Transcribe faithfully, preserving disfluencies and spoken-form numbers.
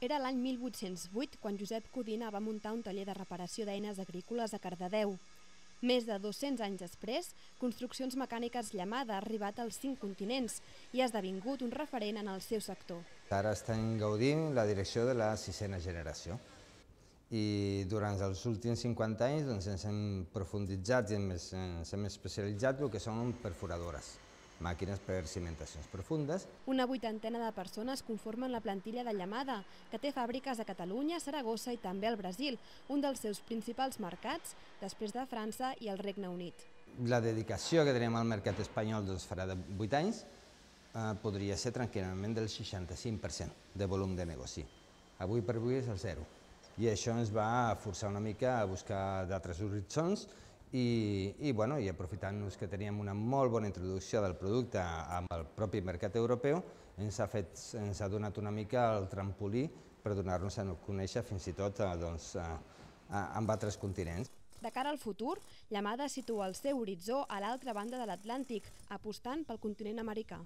Era l'any mil vuit-cents vuit quan Josep Codina va muntar un taller de reparació d'eines agrícoles a Cardedeu. Més de dos-cents anys després, Construccions Mecàniques Llamada ha arribat als cinc continents i ha esdevingut un referent en el seu sector. Ara estem gaudint la direcció de la sisena generació i durant els últims cinquanta anys doncs, ens hem profunditzat i ens hem especialitzat en el que són perforadores, màquines per cimentacions profundes. Una vuitantena de persones conformen la plantilla de Llamada, que té fàbriques a Catalunya, Saragossa i també al Brasil, un dels seus principals mercats, després de França i el Regne Unit. La dedicació que tenim al mercat espanyol doncs, farà de vuit anys, eh, podria ser tranquil·lament del seixanta-cinc per cent de volum de negoci. Avui per avui és el zero. I això ens va forçar una mica a buscar d'altres horitzons i, i, bueno, i aprofitant-nos que teníem una molt bona introducció del producte amb el propi mercat europeu, ens ha, fet, ens ha donat una mica el trampolí per donar-nos a conèixer fins i tot doncs, amb altres continents. De cara al futur, Llamada situa el seu horitzó a l'altra banda de l'Atlàntic, apostant pel continent americà.